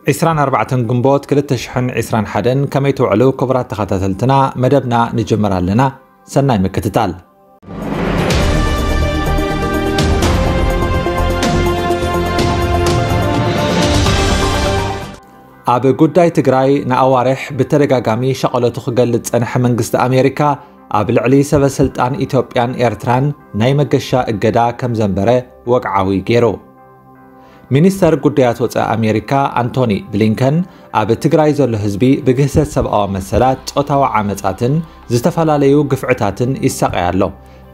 ዕስራን ኣርባዕተን ግንቦት ክልተ ሽሕን ዕስራን ሓደን፣ ከመይ ትውዕሉ ክቡራት ተኸታተልትና? መደብና ንጅምር ኣለና። ሰናይ ምክትታል። ኣብ ጉዳይ ትግራይ ንኣዋርሕ ብተደጋጋሚ ሸቐለቱ ክገልጽ ጸንሐ መንግስቲ ኣሜሪካ፣ ኣብ ልዕሊ ሰበ ስልጣን ኢትዮጵያን ኤርትራን ናይ መገሻ እገዳ ከም ዘንበረ ወግዓዊ ገይሩ። ሚኒስተር ጉዳያት ወጻኢ ኣሜሪካ ኣንቶኒ ብሊንከን፣ ኣብ ትግራይ ዘሎ ህዝቢ ብግህሰት ሰብኣዊ መሰላት፣ ጾታዊ ዓመጻትን ዝተፈላለዩ ግፍዕታትን ይሳቐይ ኣሎ።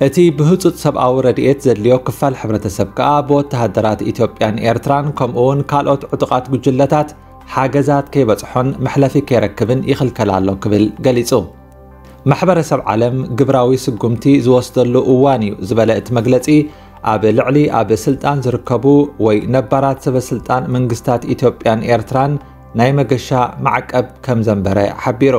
እቲ ብህጹጽ ሰብኣዊ ረድኤት ዘድልዮ ክፋል ሕብረተሰብ ከኣ ብወተሃደራት ኢትዮጵያን ኤርትራን ከምኡ እውን ካልኦት ዕጡቓት ጉጅለታት ሓገዛት ከይበጽሖን መሕለፊ ከይረክብን ይኽልከል ኣሎ ክብል ገሊጹ። ማሕበረሰብ ዓለም ግብራዊ ስጉምቲ ዝወስደሉ እዋን እዩ ዝበለ እቲ መግለጺ፣ ኣብ ልዕሊ ኣብ ስልጣን ዝርከቡ ወይ ነባራት ሰበ ስልጣን መንግስታት ኢትዮጵያን ኤርትራን ናይ መገሻ ማዕቀብ ከም ዘንበረ ሓቢሩ።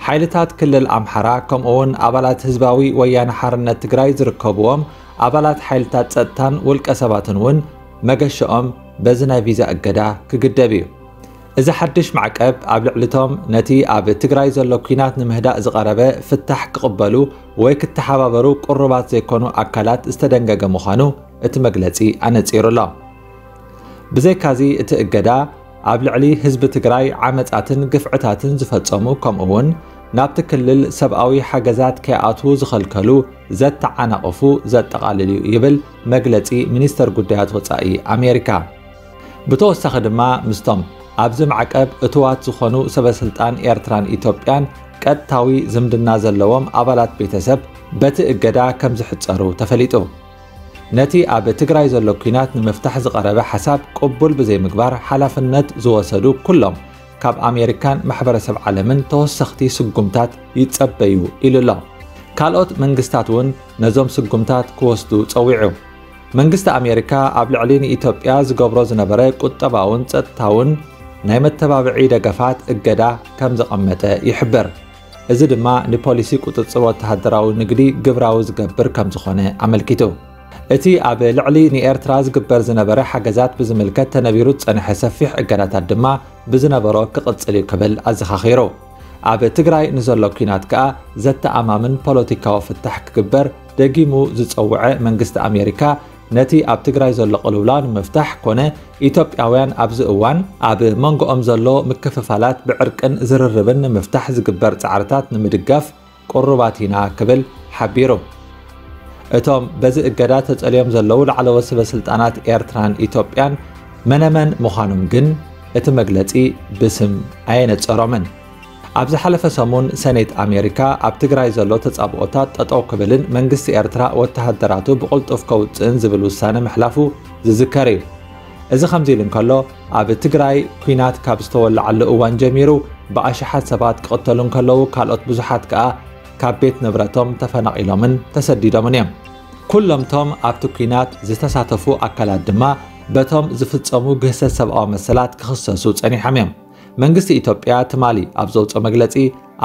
ሓይልታት ክልል ኣምሓራ ከምኡ እውን ኣባላት ህዝባዊ ወያነ ሓርነት ትግራይ ዝርከብዎም ኣባላት ሓይልታት ጸጥታን ውልቀ ሰባትን እውን መገሻኦም በዚ ናይ ቪዛ እገዳ ክግደብ እዩ። እዚ ሓድሽ ማዕቀብ ኣብ ልዕሊቶም ነቲ ኣብ ትግራይ ዘሎ ኲናት ንምህዳእ ዝቐረበ ፍታሕ ክቕበሉ ወይ ክተሓባበሩ ቅሩባት ዘይኮኑ ኣካላት ዝተደንገገ ምዃኑ እቲ መግለጺ ኣነጺሩ ኣሎ። ብዘይካዚ እቲ እገዳ ኣብ ልዕሊ ህዝቢ ትግራይ ዓመጻትን ግፍዕታትን ዝፈጸሙ ከምኡ እውን ናብቲ ክልል ሰብኣዊ ሓገዛት ከይኣትዉ ዝኸልከሉ ዘተዓናቕፉ ዘጠቓልል እዩ ይብል መግለጺ ሚኒስተር ጉዳያት ወጻኢ ኣሜሪካ። ብተወሳኺ ድማ ምስቶም ኣብዚ ማዕቀብ እትዋት ዝኾኑ ሰበ ስልጣን ኤርትራን ኢትዮጵያን ቀጥታዊ ዝምድና ዘለዎም ኣባላት ቤተሰብ በቲ እገዳ ከም ዝሕጸሩ ተፈሊጡ። ነቲ ኣብ ትግራይ ዘሎ ኲናት ንምፍታሕ ዝቐረበ ሓሳብ ቅቡል ብዘይምግባር ሓላፍነት ዝወሰዱ ኩሎም ካብ ኣሜሪካን ማሕበረሰብ ዓለምን ተወሰኽቲ ስጉምታት ይጸበዩ ኢሉ ኣሎ። ካልኦት መንግስታት እውን ነዞም ስጉምታት ክወስዱ ጸዊዑ። መንግስቲ ኣሜሪካ ኣብ ልዕሊ ንኢትዮጵያ ዝገብሮ ዝነበረ ቁጠባውን ጸጥታውን ናይ መተባብዒ ደገፋት እገዳ ከም ዘቐመጠ ይሕብር። እዚ ድማ ንፖሊሲ ቁጽጽር ወተሃደራዊ ንግዲ ግብራዊ ዝገብር ከም ዝኾነ ኣመልኪቱ። እቲ ኣብ ልዕሊ ንኤርትራ ዝግበር ዝነበረ ሓገዛት ብዝምልከት ተነቢሩ ዝጸንሐ ሰፊሕ እገዳታት ድማ ብዝነበሮ ክቕጽል እዩ ክብል ኣዘኻኺሩ። ኣብ ትግራይ ንዘሎ ኲናት ከኣ ዘተኣማምን ፖለቲካዊ ፍታሕ ክግበር ደጊሙ ዝጸውዐ መንግስቲ ኣሜሪካ፣ ነቲ ኣብ ትግራይ ዘሎ ቅልውላው ንምፍታሕ ኮነ ኢትዮጵያውያን ኣብዚ እዋን ኣብ መንጎኦም ዘሎ ምክፍፋላት ብዕርቅን ዝርርብን ንምፍታሕ ዝግበር ጻዕርታት ንምድጋፍ ቅሩባት ኢና ክብል ሓቢሩ። እቶም በዚ እገዳ ተጸልዮም ዘለዉ ላዕለዎት ሰበ ስልጣናት ኤርትራን ኢትዮጵያን መነመን ምዃኖም ግን እቲ መግለጺ ብስም ኣየነጸሮምን። ኣብ ዝሓለፈ ሰሙን ሰኔት ኣሜሪካ ኣብ ትግራይ ዘሎ ተጻብኦታት ጠጠው ክብልን መንግስቲ ኤርትራ ወተሃደራቱ ብቕልጡፍ ከውጽእን ዝብል ውሳነ ምሕላፉ ዝዝከር እዩ። እዚ ከምዚ ኢሉ እንከሎ፣ ኣብ ትግራይ ኲናት ካብ ዝተወለዓሉ እዋን ጀሚሩ ብኣሽሓት ሰባት ክቕተሉ እንከለዉ፣ ካልኦት ብዙሓት ከኣ ካብ ቤት ንብረቶም ተፈናቒሎምን ተሰዲዶምን እዮም። ኩሎምቶም ኣብቲ ኲናት ዝተሳተፉ ኣካላት ድማ በቶም ዝፍጸሙ ግህሰት ሰብኣዊ መሰላት ክኽሰሱ ጸኒሖም እዮም። መንግስቲ ኢትዮጵያ ትማሊ ኣብ ዘውጽኦ መግለጺ፣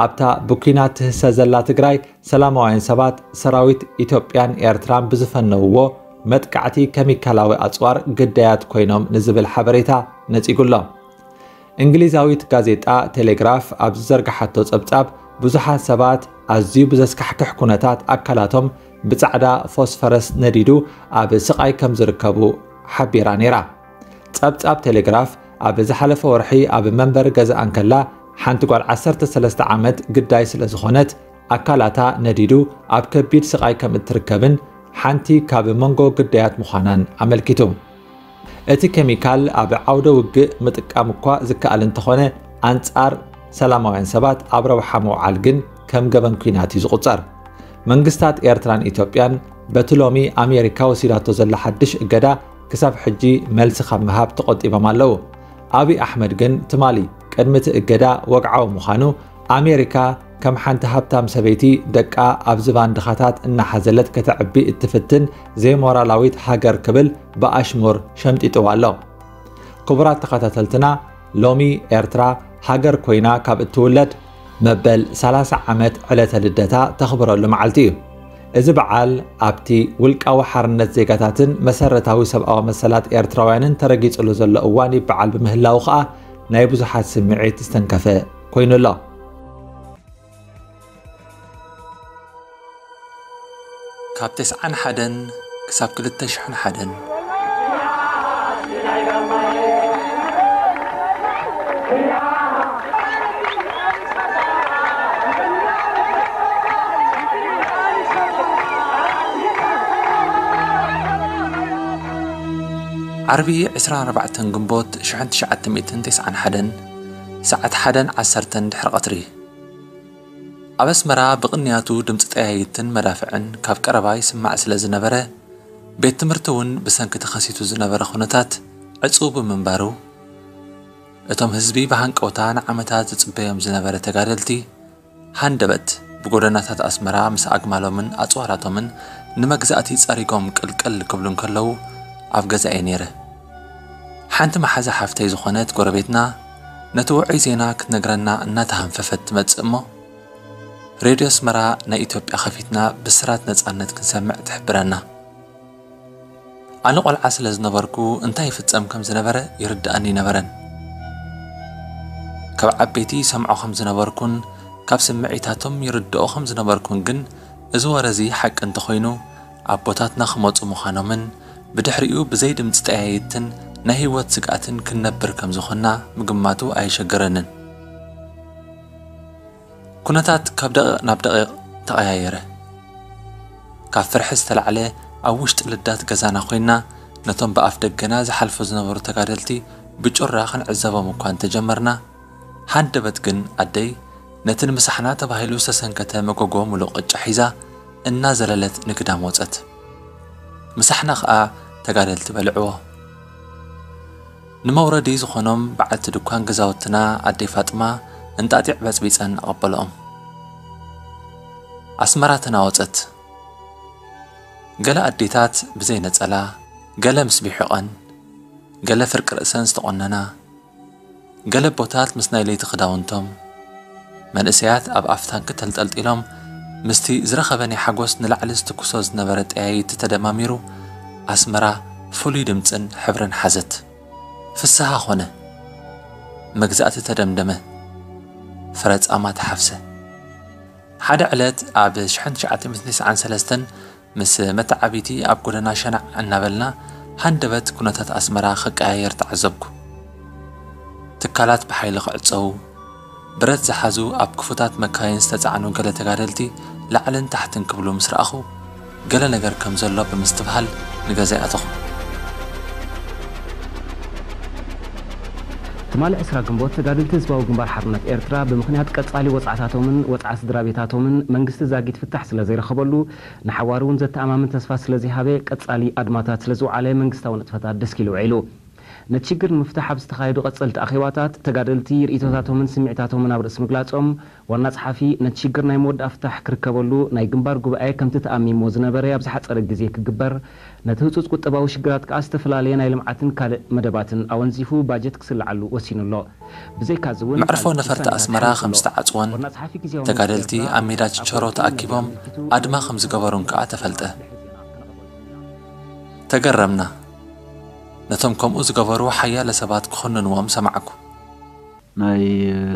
ኣብታ ብኲናት ትህሰ ዘላ ትግራይ ሰላማውያን ሰባት ሰራዊት ኢትዮጵያን ኤርትራን ብዝፈነውዎ መጥቃዕቲ ኬሚካላዊ ኣጽዋር ግዳያት ኮይኖም ንዝብል ሓበሬታ ነጺጉ ኣሎ። እንግሊዛዊት ጋዜጣ ቴሌግራፍ ኣብ ዝዘርግሓቶ ጸብጻብ፣ ብዙሓት ሰባት ኣዝዩ ብዘስካሕክሕ ኩነታት ኣካላቶም ብጻዕዳ ፎስፈረስ ነዲዱ ኣብ ስቓይ ከም ዝርከቡ ሓቢራ ነይራ። ጸብጻብ ቴሌግራፍ ኣብ ዝሓለፈ ወርሒ ኣብ መንበሪ ገዛኣ እንከላ፣ ሓንቲ ጓል ዓሰርተ ሰለስተ ዓመት ግዳይ ስለ ዝኾነት፣ ኣካላታ ነዲዱ ኣብ ከቢድ ስቓይ ከም እትርከብን ሓንቲ ካብ መንጎ ግዳያት ምዃናን ኣመልኪቱ። እቲ ኬሚካል ኣብ ዓውደ ውግእ ምጥቃም እኳ ዝከኣል እንተኾነ፣ ኣንጻር ሰላማውያን ሰባት ኣብ ረብሓ ምውዓል ግን ከም ገበን ኲናት እዩ ዝቑጸር። መንግስታት ኤርትራን ኢትዮጵያን በቲ ሎሚ ኣሜሪካ ወሲዳቶ ዘላ ሓድሽ እገዳ ክሳብ ሕጂ መልሲ ካብ ምሃብ ተቖጢቦም ኣለዉ። ኣብይ ኣሕመድ ግን ትማሊ ቅድሚ እቲ እገዳ ወግዓዊ ምዃኑ፣ ኣሜሪካ ከም ሓንቲ ሃብታም ሰበይቲ ደቃ ኣብ ዝባን ድኻታት እናሓዘለት ከተዕቢ እትፍትን ዘይሞራላዊት ሃገር ክብል ብኣሽሙር ሸምጢጥዋ ኣሎ። ክቡራት ተኸታተልትና፣ ሎሚ ኤርትራ ሃገር ኮይና ካብ እትውለድ መበል ሰላሳ ዓመት ዕለተ ልደታ ተኽብረሉ መዓልቲ እዩ። እዚ በዓል ኣብቲ ውልቃዊ ሓርነት ዜጋታትን መሰረታዊ ሰብኣዊ መሰላት ኤርትራውያንን ተረጊጽሉ ዘሎ እዋን ይበዓል ብምህላዉ ከኣ ናይ ብዙሓት ስምዒት ዝተንከፈ ኮይኑ ኣሎ። ካብ ተስዓን ሓደን ክሳብ ክልተ ሽሕን ሓደን። ዓርቢ ዕስራን ኣርባዕተን ግንቦት ሽሕን ትሽዓተ ሚእትን ተስዓን ሓደን ሰዓት ሓደን ዓሰርተን ድሕሪ ቀትሪ። ኣብ ኣስመራ ብቕንያቱ ድምጺ ጠያይትን መዳፍዕን ካብ ቀረባ ይስማዕ ስለ ዝነበረ፣ ቤት ትምህርቲ እውን ብሰንኪ ተኸሲቱ ዝነበረ ኩነታት ዕጹው ብምንባሩ፣ እቶም ህዝቢ ብሃንቀውታ ንዓመታት ዝጽበዮም ዝነበረ ተጋደልቲ፣ ሃንደበት ብጎደናታት ኣስመራ ምስ ኣግማሎምን ኣጽዋራቶምን ንመግዛእቲ ጸሪጎም ቅልቅል ክብሉ እንከለዉ፣ ኣብ ገዛ'የ ነይረ። ሓንቲ መሓዛ ሓፍተይ ዝኾነት ጎረቤትና፣ ነቲ ውዑይ ዜና ክትነግረና እናተሃንፈፈት ትመጽእ እሞ፣ ሬድዮ ኣስመራ ናይ ኢትዮጵያ ከፊትና ብስራት ነጻነት ክንሰምዕ ትሕብረና። ኣነ ቆልዓ ስለ ዝነበርኩ እንታይ ይፍጸም ከም ዝነበረ ይርድኣኒ ኣይነበረን። ካብ ዓበይቲ ይሰምዖ ከም ዝነበርኩን ካብ ስምዒታቶም ይርድኦ ከም ዝነበርኩን ግን፣ እዚ ወረ እዚ ሓቂ እንተኾይኑ፣ ኣቦታትና ክመጹ ምዃኖምን ብድሕሪኡ ብዘይ ድምጺ ጠያይትን ናይ ህይወት ስግኣትን ክንነብር ከም ዝኾንና ምግማቱ ኣየሸገረንን። ኩነታት ካብ ደቂቕ ናብ ደቂቕ ተቐያየረ። ካብ ፍርሒ ዝተላዕለ ኣብ ውሽጢ ልዳት ገዛና ኮይና ነቶም ብኣፍ ደገና ዝሓልፉ ዝነበሩ ተጋደልቲ ብጩራ ክንዕዘቦም እኳ እንተጀመርና፣ ሃንደበት ግን ኣደይ ነቲ ንምሳሕና ተባሂሉ ዝተሰንከተ መጎጎ ምሉእ ቅጫ ሒዛ እናዘለለት ንግዳም ወጸት። ምሳሕና ኸኣ ተጋደልቲ በልዕዎ። ንመውረዲ ዝኾኖም በዓልቲ ድኳን ገዛውትና ኣደይ ፋጥማ እንጣጢዕ በጽቢጸን ኣቐበለኦም። ኣስመራ ተናወጸት። ገለ ኣዴታት ብዘይ ነጸላ፣ ገለ ምስ ቢሑቐን፣ ገለ ፍርቂ ርእሰን ዝተቖነና፣ ገለ ኣቦታት ምስ ናይ ለይቲ ክዳውንቶም፣ መንእሰያት ኣብ ኣፍ ታንኪ ተንጠልጢሎም፣ ምስቲ ዝረኸበ ናይ ሓጎስ ንላዕሊ ዝትኩሶ ዝነበረ ጠያይቲ ተደማሚሩ፣ ኣስመራ ፍሉይ ድምጽን ሕብርን ሓዘት። ፍስሃ ኾነ። መግዛእቲ ተደምደመ። ፍረ ጻማ ተሓፍሰ። ሓደ ዕለት ኣብ ሽሕን ትሽዓተ ሚእትን ተስዓን ሰለስተን ምስ መተዓቢቲ ኣብ ጎደና ሸናዕ እናበልና ሃንደበት ኩነታት ኣስመራ ክቀያየር ተዓዘብኩ። ትካላት ብሓይሊ ክዕጸዉ፣ ብረት ዝሓዙ ኣብ ክፉታት መካይን ዝተጻዕኑ ገለ ተጋደልቲ ላዕልን ታሕትን ክብሉ ምስ ረኣኹ፣ ገለ ነገር ከም ዘሎ ብምስትብሃል ንገዛይ ኣተኹ። ትማሊ ዕስራ ግንቦት ተጋደልቲ ህዝባዊ ግንባር ሓርነት ኤርትራ ብምኽንያት ቀጻሊ ወጽዓታቶምን ወጽዓ ስድራ ቤታቶምን መንግስቲ ዛጊት ፍታሕ ስለ ዘይረኸበሉ ንሓዋሩ እውን ዘተኣማምን ተስፋ ስለ ዘይሃበ ቀጻሊ ኣድማታት ስለ ዝወዓለ መንግስታዊ ንጥፈታት ደስኪሉ ውዒሉ። ነቲ ሽግር ንምፍታሕ ኣብ ዝተኻየዱ ቀጸልቲ ኣኼባታት ተጋደልቲ ርእይቶታቶምን ስምዒታቶምን ኣብ ርእሲ ምግላጾም ዋና ጸሓፊ ነቲ ሽግር ናይ መወዳእታ ፍታሕ ክርከበሉ ናይ ግንባር ጉባኤ ከምቲ ተኣሚምዎ ዝነበረ ኣብ ዝሓጸረ ግዜ ክግበር፣ ነቲ ህጹጽ ቁጠባዊ ሽግራት ከኣ ዝተፈላለየ ናይ ልምዓትን ካልእ መደባትን ኣወንዚፉ ባጀት ክስልዓሉ ወሲኑ ኣሎ። ብዘይካዚ እውን መዕርፎ ኣብ ነፈርቲ ውሳኔታት ኣስመራ ከም ከም ዘሎ ዝተዓጽወን ዋና ጸሓፊ ግዜያዊ ተጋደልቲ መንግስቲ ኤርትራ ኣብ ሜዳ ኣብ ችቸሮ ወርቂ ተኣኪቦም ኣድማ ከም ዝገበሩን ከኣ ተፈልጠ። ተገረምና። ነቶም ከምኡ ዝገበሩ ሓያለ ሰባት ክኹንንዎም ሰማዕኩ። ናይ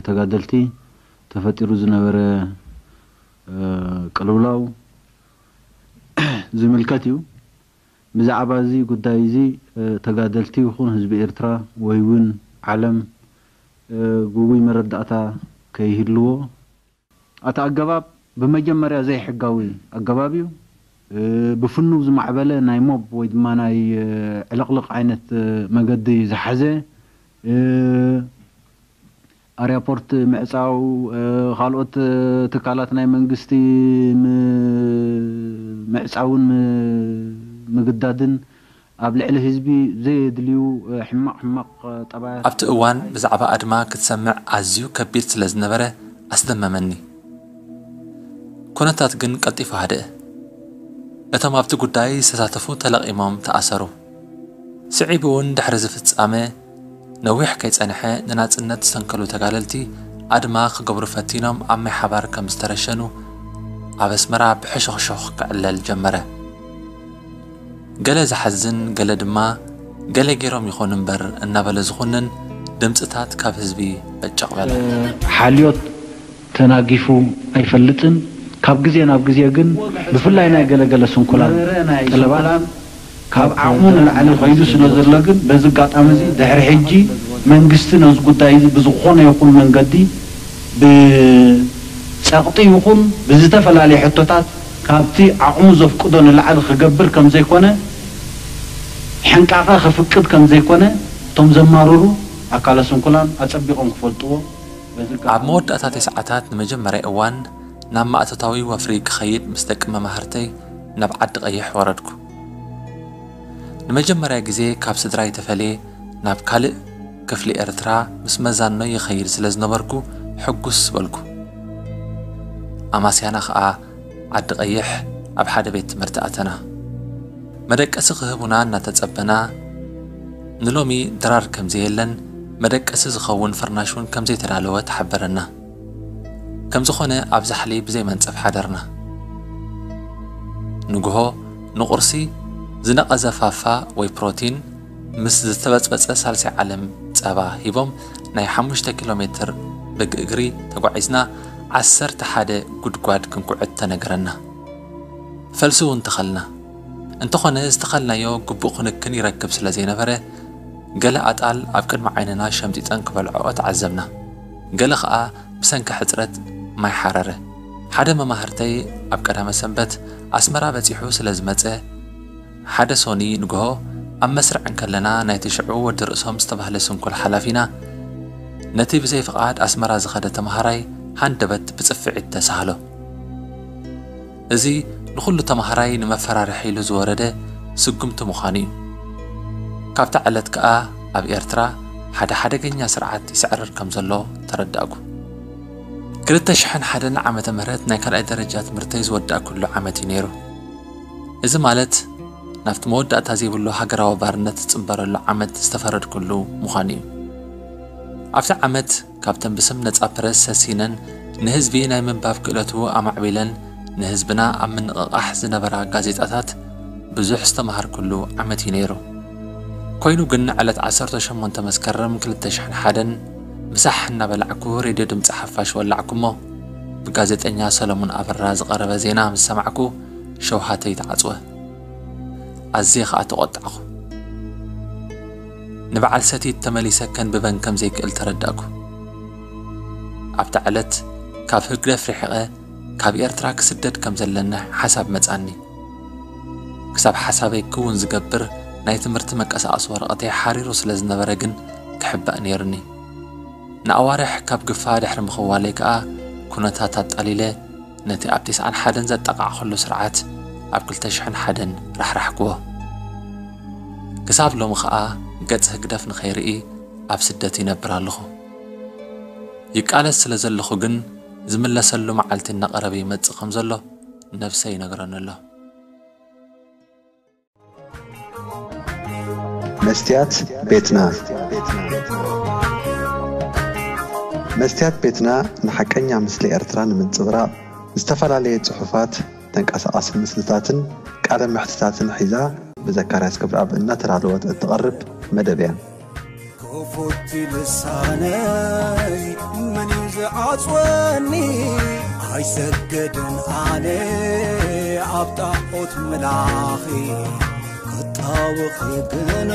ተጋደልቲ ተፈጢሩ ዝነበረ ቅልውላው ዝምልከት እዩ። ብዛዕባ እዚ ጉዳይ እዚ ተጋደልቲ ይኹን ህዝቢ ኤርትራ ወይ እውን ዓለም ግጉይ መረዳእታ ከይህልዎ፣ እቲ ኣገባብ ብመጀመርያ ዘይሕጋዊ ኣገባብ እዩ። ብፍኑው ዝማዕበለ ናይ ሞብ ወይ ድማ ናይ ዕልቕልቕ ዓይነት መገዲ ዝሓዘ፣ ኣርያፖርት ምዕጻው፣ ካልኦት ትካላት ናይ መንግስቲ ምዕጻውን ምግዳድን ኣብ ልዕሊ ህዝቢ ዘየድልዩ ሕማቕ ሕማቕ ጠባያት ኣብቲ እዋን ብዛዕባ ኣድማ ክትሰምዕ ኣዝዩ ከቢድ ስለ ዝነበረ ኣስደመመኒ። ኩነታት ግን ቀልጢፉ ሃደአ። እቶም ኣብቲ ጉዳይ ዝተሳተፉ ተለቒሞም ተኣሰሩ። ስዒቡ እውን ድሕሪ እዚ ፍጻመ ነዊሕ ከይጸንሐ ንናጽነት ዝሰንከሉ ተጋደልቲ ኣድማ ክገብሩ ፈቲኖም ኣብ ማይ ሓባር ከም ዝተረሸኑ ኣብ ኣስመራ ብሕሾኽሾኽ ክዕለል ጀመረ። ገለ ዝሓዝን፣ ገለ ድማ ገለ ገይሮም ይኾኑ እምበር እናበለ ዝኹንን ድምፅታት ካብ ህዝቢ በጨቕ በለ። ሓልዮት ተናጊፉ ኣይፈልጥን። ካብ ግዜ ናብ ግዜ ግን ብፍላይ ናይ ገለገለ ስንኩላን ጠለባት ካብ ዓቕሙ ንላዕሊ ከይዱ ስለ ዘሎ ግን በዚ ኣጋጣሚ እዚ ድሕሪ ሕጂ መንግስቲ ነዚ ጉዳይ እዚ ብዝኾነ ይኹን መንገዲ ብፀቕጢ ይኹን ብዝተፈላለየ ሕቶታት ካብቲ ዓቕሙ ዘፍቅዶ ንላዕሊ ክገብር ከም ዘይኮነ ሕንቃቐ ከፍቅድ ከም ዘይኮነ እቶም ዘማርሩ ኣካለ ስንኩላን ኣጸቢቖም ክፈልጥዎ በዚ ኣብ መወዳእታ ተስዓታት ንመጀመርያ እዋን ናብ ማእቶታዊ ወፍሪ ክኸይድ ምስ ደቂ መማህርተይ ናብ ዓዲ ቀይሕ ወረድኩ። ንመጀመርያ ግዜ ካብ ስድራይ ተፈልየ ናብ ካልእ ክፍሊ ኤርትራ ምስ መዛኖይ ይኸይድ ስለ ዝነበርኩ ሕጉስ በልኩ። ኣማስያና ኸኣ ዓዲ ቀይሕ ኣብ ሓደ ቤት ትምህርቲ ኣተና። መደቀሲ ክህቡና እናተጸበና፣ ንሎሚ ድራር ከም ዘየለን መደቀሲ ዝኸውን ፍርናሽ እውን ከም ዘይተዳለወ ተሓበረና። ከም ዝኾነ ኣብ ዛሕሊ ብዘይ መንጸፍ ሓደርና። ንግሆ ንቑርሲ ዝነቐዘ ፋፋ ወይ ፕሮቲን ምስ ዝተበጽበጸ ሳልሳይ ዓለም ጸባ ሂቦም ናይ ሓሙሽተ ኪሎ ሜትር ብእግሪ ተጓዒዝና ዓሰርተ ሓደ ጉድጓድ ክንኩዕት ተነገረና። ፈልሲ እውን ተኸልና። እንተኾነ ዝተኸልናዮ ግቡእ ክንክን ይረክብ ስለ ዘይነበረ ገለ ኣጣል ኣብ ቅድሚ ዓይንና ሸምጢጠን ክበልዕኦ ተዓዘብና። ገለ ኸኣ ብሰንኪ ሕጽረት ማይ ሓረረ። ሓደ መማህርተይ ኣብ ቀዳመ ሰንበት ኣስመራ በጺሑ ስለ ዝመጸ ሓደ ሶኒ ንግሆ ኣብ መስርዕ እንከለና ናይቲ ሽዑ ወዲ ርእሶም ዝተባህለ ስንኩል ሓላፊና ነቲ ብዘይ ፍቓድ ኣስመራ ዝኸደ ተምሃራይ ሃንደበት ብጽፍዒት ተሳህሎ። እዚ ንኹሉ ተምሃራይ ንመፈራርሒ ኢሉ ዝወረደ ስጉምቲ ምዃኑ እዩ። ካብታ ዕለት ከኣ ኣብ ኤርትራ ሓደ ሓደገኛ ስርዓት ይስዕርር ከም ዘሎ ተረዳእኩ። ክልተ ሽሕን ሓደን ዓመተ ምህረት ናይ ካልኣይ ደረጃ ትምህርተይ ዝወዳእኩሉ ዓመት እዩ ነይሩ። እዚ ማለት ናብቲ መወዳእታ ዘይብሉ ሃገራዊ ባርነት ዝጽንበረሉ ዓመት ዝተፈረድኩሉ ምዃኑ እዩ። ኣብቲ ዓመት ካብተን ብስም ነጻ ፕረስ ሰሲነን ንህዝቢ ናይ ምንባብ ክእለቱ ኣማዕቢለን ንህዝብና ኣብ ምንቕቓሕ ዝነበራ ጋዜጣታት ብዙሕ ዝተምሃርኩሉ ዓመት እዩ ነይሩ። ኮይኑ ግን ዕለት ዓሰርተ ሸሞንተ መስከረም ክልተ ሽሕን ሓደን ምሳሕ እናበላዕኩ ሬድዮ ድምፂ ሓፋሽ ወላዕኩ እሞ ብጋዜጠኛ ሰለሙን ኣበራ ዝቐረበ ዜና ምስ ሰማዕኩ ሸውሃተይ ተዓጽወ። ኣዝየ ኸኣ ተቖጣዕኹ። ንበዓል ሰቲት ተመሊሰ ከንብበን ከም ዘይክእል ተረዳእኩ። ኣብታ ዕለት ካብ ህግደፍ ርሒቐ ካብ ኤርትራ ክስደድ ከም ዘለኒ ሓሳብ መጻኒ። ክሳብ ሓሳበይ ክውን ዝገብር ናይ ትምህርቲ መንቀሳቐሲ ወረቐተይ ሓሪሩ ስለ ዝነበረ ግን ክሕባእ ነይሩኒ። ንኣዋርሕ ካብ ግፋ ድሕሪ ምኽዋለይ ከኣ ኩነታት ኣጣሊለ ነቲ ኣብ ተስዓን ሓደን ዘጣቓዕኹሉ ስርዓት ኣብ ክልተ ሽሕን ሓደን ራሕራሕክዎ። ክሳብ ሎሚ ኸኣ ገጽ ህግደፍ ንኸይርኢ ኣብ ስደት ይነብር ኣለኹ። ይቃለስ ስለ ዘለኹ ግን ዝምለሰሉ መዓልቲ እናቐረበ ይመጽእ ከም ዘሎ ነብሰይ ይነግረኒ ኣሎ። መስትያት ቤትና። መስትያት ቤትና ንሓቀኛ ምስሊ ኤርትራ ንምንጽብራቕ ዝተፈላለየ ጽሑፋት፣ ተንቀሳቓሲ ምስልታትን ቃለ መሕትታትን ሒዛ ብዘካርያስ ገብረኣብ እናተዳለወት እትቐርብ መደብ እያ። ክፉት ልሳነይ መን እዩ ዝዓጽወኒ? ኣይሰግድን ኣነ ኣብ ጣዖት ምላኺ ክጣወኺ ግና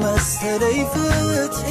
መሰለይ ፍትሒ